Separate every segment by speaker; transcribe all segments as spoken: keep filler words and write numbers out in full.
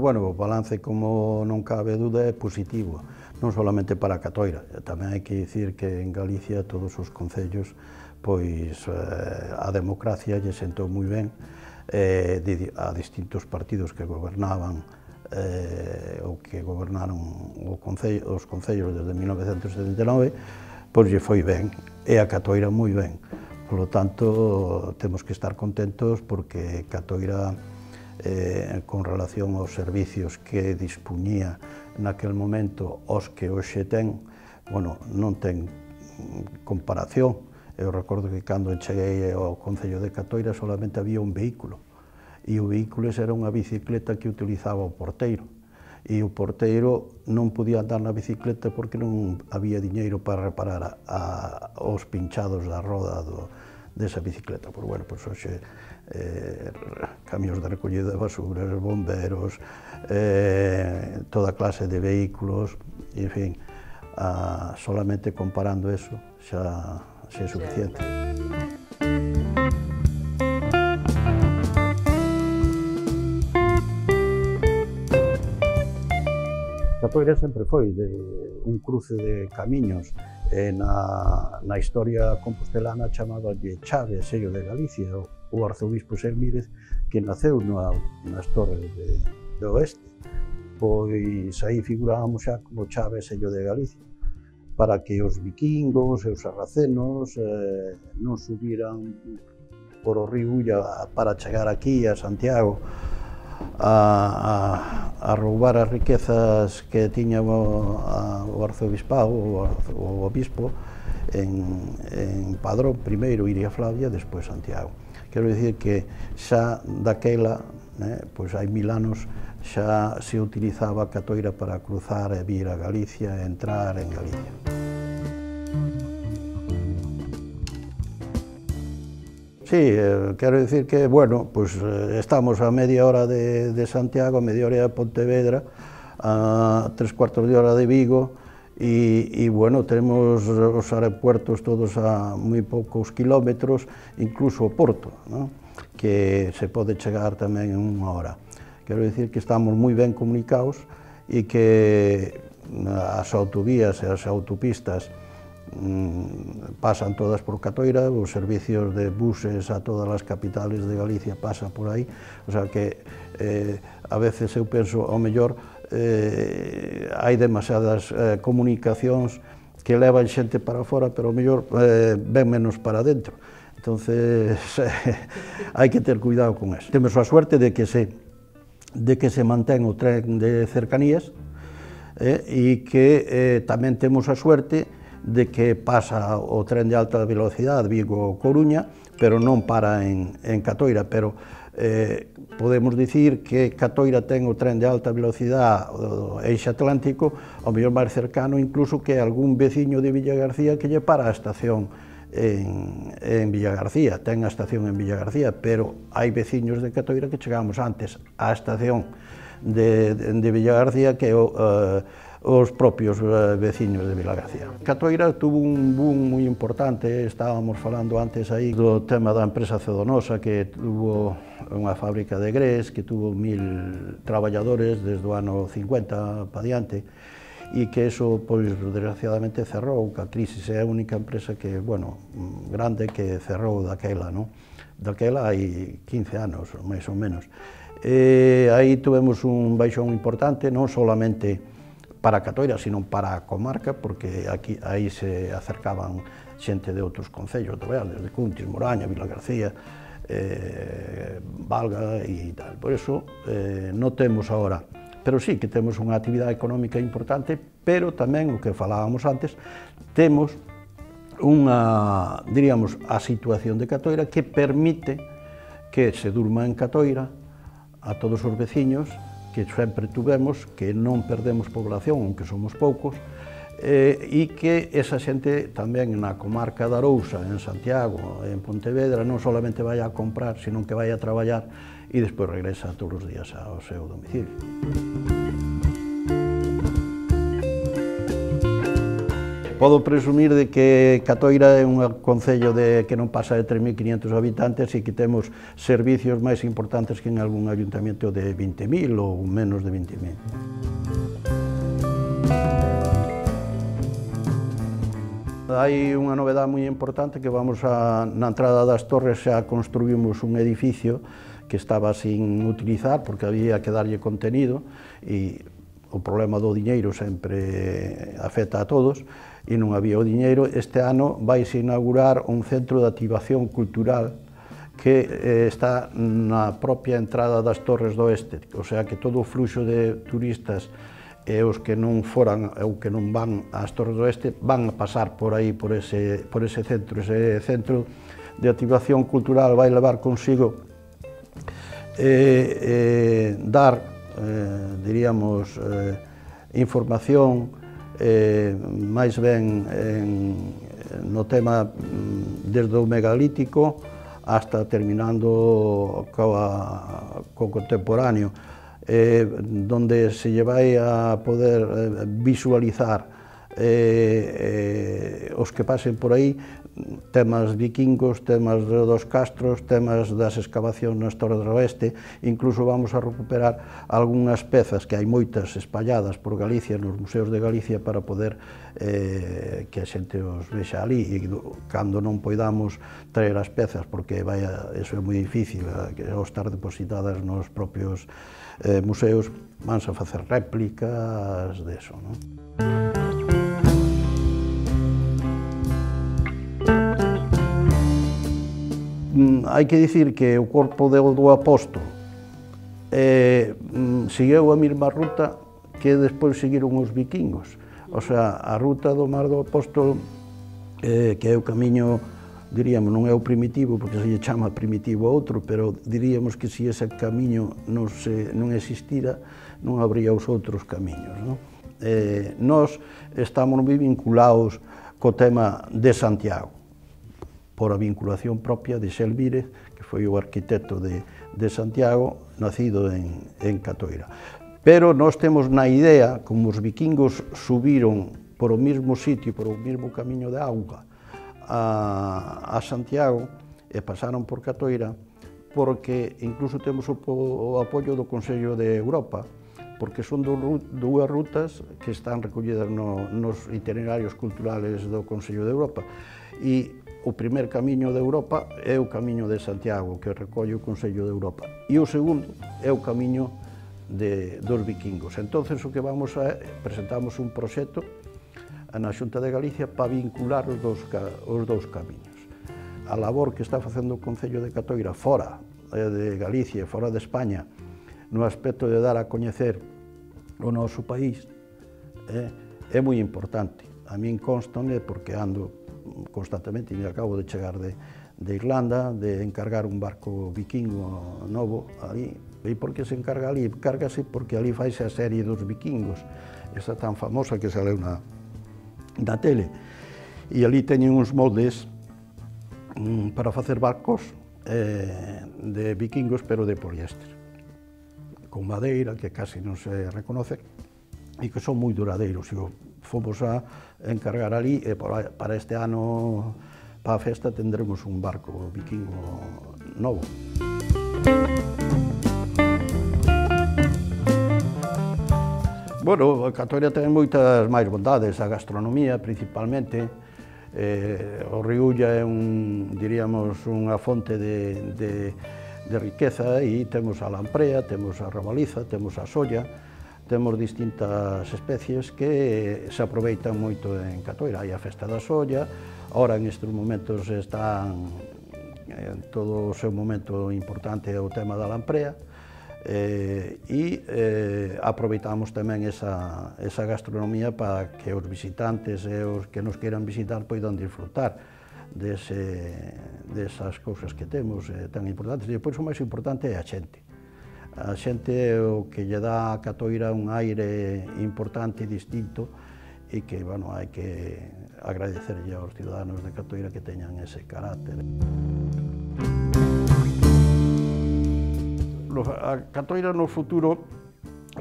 Speaker 1: bueno, o balance, como non cabe dúda, é positivo, non solamente para Catoira, tamén hai que dicir que en Galicia todos os concellos, pois a democracia lle sentou moi ben a distintos partidos que gobernaban ou que gobernaron os concellos desde mil novecentos setenta e nove, pois lle foi ben, e a Catoira moi ben. Por lo tanto, temos que estar contentos porque Catoira, con relación aos servicios que dispuñía naquel momento os que hoxe ten, bueno, non ten comparación. Eu recordo que cando cheguei ao Concello de Catoira solamente había un vehículo, e o vehículo era unha bicicleta que utilizaba o porteiro, e o porteiro non podía andar na bicicleta porque non había diñeiro para reparar os pinchados da roda desa bicicleta. Pois, bueno, pois hoxe camións de recollida de basuras, bomberos, toda clase de vehículos, en fin, solamente comparando eso xa é suficiente. Catoira sempre foi un cruce de camiños, na historia compostelana chamaballe Chave, sello de Galicia, o arzobispo Sermírez, que naceu nas Torres de Oeste, pois aí figurábamos xa como Chave, sello de Galicia, para que os vikingos e os sarracenos non subiran por o río Ulla para chegar aquí a Santiago a roubar as riquezas que tiña o arzobispado, o obispo, en Padrón, primeiro Iria Flavia, despois Santiago. Quero dicir que xa daquela, pois hai mil anos, xa se utilizaba a Catoira para cruzar e vir a Galicia e entrar en Galicia. Sí, quero dicir que, bueno, pois estamos a media hora de Santiago, a media hora de Pontevedra, a tres cuartos de hora de Vigo, e, bueno, tenemos os aeropuertos todos a moi poucos kilómetros, incluso o Porto, que se pode chegar tamén en unha hora. Quero dicir que estamos moi ben comunicados e que as autovías e as autopistas pasan todas por Catoira, os servicios de buses a todas as capitales de Galicia pasan por aí, o sea que a veces eu penso, ao mellor, hai demasiadas comunicacións que levan xente para fora, pero ao mellor ven menos para dentro. Entonces, hai que ter cuidado con eso. Temos a suerte de que se de que se mantén o tren de cercanías e que tamén temos a suerte de que pasa o tren de alta velocidade Vigo-Coruña, pero non para en Catoira, pero podemos dicir que Catoira ten o tren de alta velocidade, o Eixe Atlántico, ao mellor máis cercano incluso que algún veciño de Villagarcía que lle para a estación en Villagarcía, ten a estación en Villagarcía, pero hai veciños de Catoira que chegamos antes á estación de Villagarcía que os propios veciños de Vilagarcía. Catoira tuvo un boom moi importante, estábamos falando antes aí do tema da empresa Cedonosa, que tuvo unha fábrica de grés, que tuvo mil traballadores desde o ano cincuenta pa diante, e que eso, pois, desgraciadamente cerrou, que a crisis é a única empresa que, bueno, grande que cerrou daquela, non? Daquela hai quince anos, máis ou menos. E aí tuvemos un baixón importante, non solamente para Catoira, sino para a comarca, porque aquí aí se acercaban xente de outros concellos do Real, desde Cuntis, Moraña, Vilagarcía, eh, Valga e tal. Por eso eh, non temos agora, pero sí que temos unha actividade económica importante, pero tamén, o que falábamos antes, temos unha, diríamos, a situación de Catoira que permite que se durma en Catoira a todos os veciños, que sempre tuvemos, que non perdemos población, aunque somos poucos, e que esa xente tamén na comarca da Arousa, en Santiago, en Pontevedra, non solamente vai a comprar, sino que vai a traballar e despois regresa todos os días ao seu domicilio. Podo presumir de que Catoira é un concello de, que non pasa de tres mil quinientos habitantes e que temos servicios máis importantes que en algún ayuntamiento de vinte mil ou menos de vinte mil. Hai unha novedade moi importante que vamos a, na entrada das Torres xa construímos un edificio que estaba sin utilizar porque había que darlle contenido e o problema do diñeiro sempre afecta a todos e non había o diñeiro. Este ano vaise inaugurar un centro de activación cultural que eh, está na propia entrada das Torres do Oeste, o sea que todo o fluxo de turistas e os que non foran ou que non van ás Torres do Oeste van a pasar por aí, por ese, por ese centro. Ese centro de activación cultural vai levar consigo eh, eh, dar, eh, diríamos, eh, información eh, máis ben en, no tema desde o megalítico hasta terminando coa, co contemporáneo, eh, donde se lle vai a poder eh, visualizar eh, eh, os que pasen por aí, temas vikingos, temas dos castros, temas das excavacións nas Torres do Oeste. Incluso vamos a recuperar algunhas pezas que hai moitas espalladas por Galicia, nos museos de Galicia, para poder eh, que a xente os vexa ali, e cando non poidamos traer as pezas, porque vai a, eso é moi difícil, que ao estar depositadas nos propios eh, museos, vanse a facer réplicas deso, non? Hai que dicir que o corpo do apóstolo eh, seguiu a mesma ruta que despois seguiron os vikingos. O sea, a ruta do Mar do Apóstolo, eh, que é o camiño, diríamos, non é o primitivo, porque se lle chama primitivo a outro, pero diríamos que se ese camiño non, se, non existira, non habría os outros camiños, non? Eh, nós estamos moi vinculados co tema de Santiago, por a vinculación propia de Xelvírez, que foi o arquitecto de, de Santiago, nacido en, en Catoira. Pero nós temos na idea, como os vikingos subiron por o mesmo sitio, por o mesmo camiño de auga a, a Santiago e pasaron por Catoira, porque incluso temos o, o apoio do Consello de Europa, porque son dúas rutas que están recollidas no, nos itinerarios culturales do Consello de Europa. E o primer camiño de Europa é o camiño de Santiago, que recolle o Consello de Europa, e o segundo é o camiño de, dos vikingos. Entonces, o que vamos a presentamos un proxecto na Xunta de Galicia para vincular os dous, os dous camiños. A labor que está facendo o Concello de Catoira fora de Galicia e fora de España, no aspecto de dar a coñecer o noso país, é, é moi importante. A min constame porque ando constantemente, e acabo de chegar de, de Irlanda, de encargar un barco vikingo novo ali. E por que se encarga ali? Encárgase porque ali faise a serie dos vikingos, esa tan famosa que saleu na, na tele. E ali teñen uns moldes mm, para facer barcos eh, de vikingos, pero de poliéster, con madeira, que casi non se reconoce, e que son moi duradeiros. E fomos a encargar ali, e para este ano, para a festa, tendremos un barco vikingo novo. Bueno, Catoira ten moitas máis bondades, a gastronomía principalmente. Eh, o Riulla é un, diríamos, unha fonte de, de, de riqueza, e temos a lamprea, temos a rabaliza, temos a solla, temos distintas especies que se aproveitan moito en Catoira. Hai a festa da solla, ahora en estes momentos están en todo o seu momento importante o tema da lamprea, eh, e eh, aproveitamos tamén esa, esa gastronomía para que os visitantes e os que nos queiran visitar poidan disfrutar dese, desas cousas que temos eh, tan importantes. E depois o máis importante é a xente. A xente é o que lle dá a Catoira un aire importante e distinto, e que, bueno, hai que agradecerlle aos ciudadanos de Catoira que teñan ese carácter. A Catoira no futuro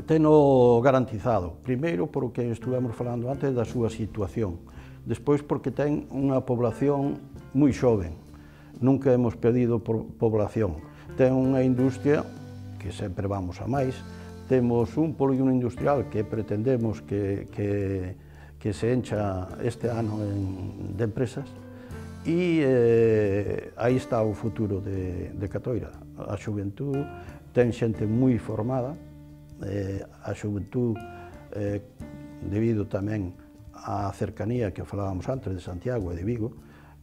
Speaker 1: teno garantizado, primeiro por o que estuvemos falando antes da súa situación, Despois porque ten unha población moi xoven, nunca hemos perdido población. Ten unha industria que sempre vamos a máis, temos un polígono industrial que pretendemos que, que, que se encha este ano en, de empresas, e eh, aí está o futuro de, de Catoira. A xuventud ten xente moi formada, eh, a xuventud, eh, debido tamén á cercanía que falábamos antes de Santiago e de Vigo,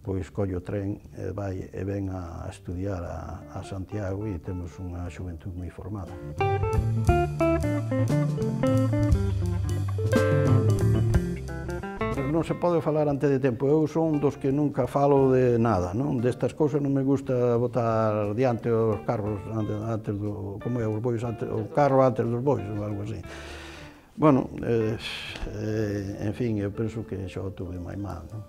Speaker 1: pois colle o tren e vai e ven a estudiar a, a Santiago e temos unha xuventud moi formada. Non se pode falar antes de tempo. Eu son dos que nunca falo de nada, non? Destas cousas non me gusta botar diante os carros antes do, como é, os bois antes, o carro antes dos bois, ou algo así. Bueno, eh, eh, en fin, eu penso que xa o tuve máis mal, non?